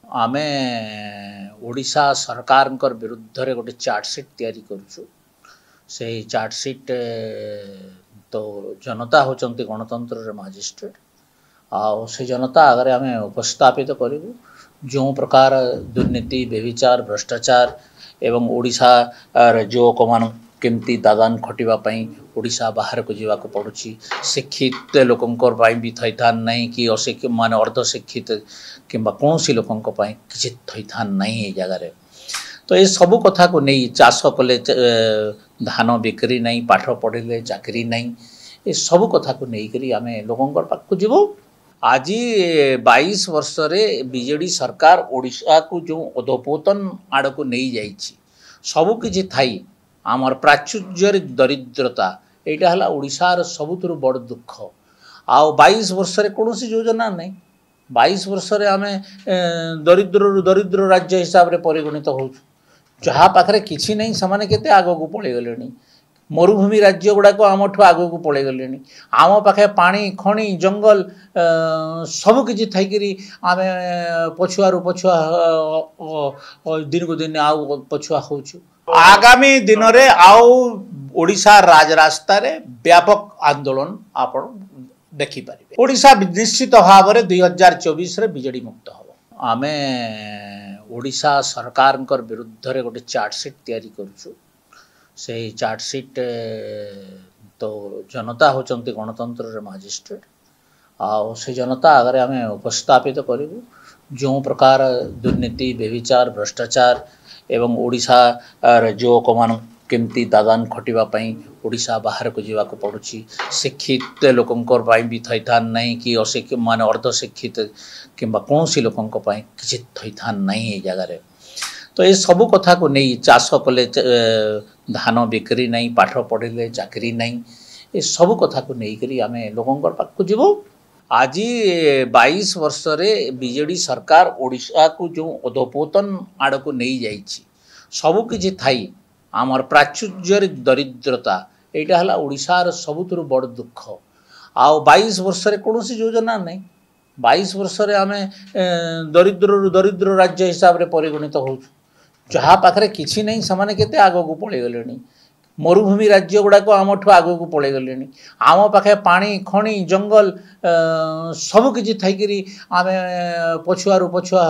ଆମେ ଓଡ଼ିଶା ସରକାରଙ୍କର ବିରୁଦ୍ଧରେ ଗୋଟେ ଚାର୍ଜସିଟ୍ ତିଆରି କରୁଛୁ। ସେଇ ଚାର୍ଜସିଟ୍ ତ ଜନତା ହେଉଛନ୍ତି ଗଣତନ୍ତ୍ରର ମାଜିଷ୍ଟ୍ରେଟ୍, ଆଉ ସେ ଜନତା ଆଗରେ ଆମେ ଉପସ୍ଥାପିତ କରିବୁ। ଯେଉଁ ପ୍ରକାର ଦୁର୍ନୀତି, ବ୍ୟଭିଚାର, ଭ୍ରଷ୍ଟାଚାର ଏବଂ ଓଡ଼ିଶାର ଯୁବକମାନଙ୍କୁ କେମିତି ଦାଦାନ ଖଟିବା ପାଇଁ ଓଡ଼ିଶା ବାହାରକୁ ଯିବାକୁ ପଡ଼ୁଛି, ଶିକ୍ଷିତ ଲୋକଙ୍କ ପାଇଁ ବି ଥଇଥାନ ନାହିଁ କି ଅଶିକ୍ଷିତ ମାନେ ଅର୍ଦ୍ଧଶିକ୍ଷିତ କିମ୍ବା କୌଣସି ଲୋକଙ୍କ ପାଇଁ କିଛି ଥଇଥାନ ନାହିଁ ଏଇ ଜାଗାରେ। ତ ଏସବୁ କଥାକୁ ନେଇ ଚାଷ କଲେ ଧାନ ବିକ୍ରି ନାହିଁ, ପାଠ ପଢ଼ିଲେ ଚାକିରି ନାହିଁ, ଏସବୁ କଥାକୁ ନେଇକରି ଆମେ ଲୋକଙ୍କ ପାଖକୁ ଯିବୁ। ଆଜି 22 ବର୍ଷରେ ବିଜେଡ଼ି ସରକାର ଓଡ଼ିଶାକୁ ଯେଉଁ ଅଧୋପତନ ଆଡ଼କୁ ନେଇଯାଇଛି, ସବୁକିଛି ଥାଇ ଆମର ପ୍ରାଚୁର୍ଯ୍ୟରେ ଦରିଦ୍ରତା, ଏଇଟା ହେଲା ଓଡ଼ିଶାର ସବୁଥିରୁ ବଡ଼ ଦୁଃଖ। ଆଉ 22 ବର୍ଷରେ କୌଣସି ଯୋଜନା ନାହିଁ। 22 ବର୍ଷରେ ଆମେ ଦରିଦ୍ରରୁ ଦରିଦ୍ର ରାଜ୍ୟ ହିସାବରେ ପରିଗଣିତ ହେଉଛୁ। ଯାହା ପାଖରେ କିଛି ନାହିଁ ସେମାନେ କେତେ ଆଗକୁ ପଳେଇଗଲେଣି। ମରୁଭୂମି ରାଜ୍ୟ ଗୁଡ଼ାକ ଆମଠୁ ଆଗକୁ ପଳେଇଗଲେଣି। ଆମ ପାଖେ ପାଣି, ଖଣି, ଜଙ୍ଗଲ ସବୁକିଛି ଥାଇକିରି ଆମେ ପଛୁଆରୁ ପଛୁଆ ଦିନକୁ ଦିନ ଆଉ ପଛୁଆ ହେଉଛୁ। ଆଗାମୀ ଦିନରେ ଆଉ ଓଡ଼ିଶା ରାଜରାସ୍ତାରେ ବ୍ୟାପକ ଆନ୍ଦୋଳନ ଆପଣ ଦେଖିପାରିବେ। ଓଡ଼ିଶା ନିଶ୍ଚିତ ଭାବରେ 2024ରେ ବିଜେଡ଼ି ମୁକ୍ତ ହେବ। ଆମେ ଓଡ଼ିଶା ସରକାରଙ୍କର ବିରୁଦ୍ଧରେ ଗୋଟେ ଚାର୍ଜସିଟ୍ ତିଆରି କରୁଛୁ। ସେଇ ଚାର୍ଜସିଟ୍ ତ ଜନତା ହେଉଛନ୍ତି ଗଣତନ୍ତ୍ରର ମାଜିଷ୍ଟ୍ରେଟ୍, ଆଉ ସେ ଜନତା ଆଗରେ ଆମେ ଉପସ୍ଥାପିତ କରିବୁ। ଯେଉଁ ପ୍ରକାର ଦୁର୍ନୀତି, ବ୍ୟଭିଚାର, ଭ୍ରଷ୍ଟାଚାର ଏବଂ ଓଡ଼ିଶାର ଯୁବକମାନଙ୍କୁ କେମିତି ଦାଦାନ ଖଟିବା ପାଇଁ ଓଡ଼ିଶା ବାହାରକୁ ଯିବାକୁ ପଡ଼ୁଛି, ଶିକ୍ଷିତ ଲୋକଙ୍କ ପାଇଁ ବି ଥଇଥାନ ନାହିଁ କି ଅଶିକ୍ଷିତ ମାନେ ଅର୍ଦ୍ଧଶିକ୍ଷିତ କିମ୍ବା କୌଣସି ଲୋକଙ୍କ ପାଇଁ କିଛି ଥଇଥାନ ନାହିଁ ଏଇ ଜାଗାରେ। ତ ଏସବୁ କଥାକୁ ନେଇ ଚାଷ କଲେ ଧାନ ବିକ୍ରି ନାହିଁ, ପାଠ ପଢ଼ିଲେ ଚାକିରି ନାହିଁ, ଏସବୁ କଥାକୁ ନେଇକରି ଆମେ ଲୋକଙ୍କ ପାଖକୁ ଯିବୁ। ଆଜି 22 ବର୍ଷରେ ବିଜେଡ଼ି ସରକାର ଓଡ଼ିଶାକୁ ଯେଉଁ ଅଧୋପତନ ଆଡ଼କୁ ନେଇଯାଇଛି, ସବୁକିଛି ଥାଇ ଆମର ପ୍ରାଚୁର୍ଯ୍ୟରେ ଦରିଦ୍ରତା, ଏଇଟା ହେଲା ଓଡ଼ିଶାର ସବୁଥିରୁ ବଡ଼ ଦୁଃଖ। ଆଉ 22 ବର୍ଷରେ କୌଣସି ଯୋଜନା ନାହିଁ। 22 ବର୍ଷରେ ଆମେ ଦରିଦ୍ରରୁ ଦରିଦ୍ର ରାଜ୍ୟ ହିସାବରେ ପରିଗଣିତ ହେଉଛୁ। ଯାହା ପାଖରେ କିଛି ନାହିଁ ସେମାନେ କେତେ ଆଗକୁ ପଳେଇଗଲେଣି। ମରୁଭୂମି ରାଜ୍ୟ ଗୁଡ଼ାକ ଆମଠୁ ଆଗକୁ ପଳେଇଗଲେଣି। ଆମ ପାଖେ ପାଣି, ଖଣି, ଜଙ୍ଗଲ ସବୁକିଛି ଥାଇକିରି ଆମେ ପଛୁଆରୁ ପଛୁଆ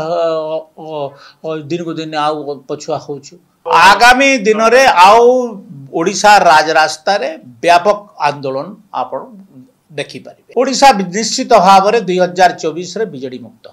ଦିନକୁ ଦିନ ଆଉ ପଛୁଆ ହେଉଛୁ। ଆଗାମୀ ଦିନରେ ଆଉ ଓଡ଼ିଶା ରାଜରାସ୍ତାରେ ବ୍ୟାପକ ଆନ୍ଦୋଳନ ଆପଣ ଦେଖିପାରିବେ। ଓଡ଼ିଶା ନିଶ୍ଚିତ ଭାବରେ 2024ରେ ବିଜେଡ଼ି ମୁକ୍ତ।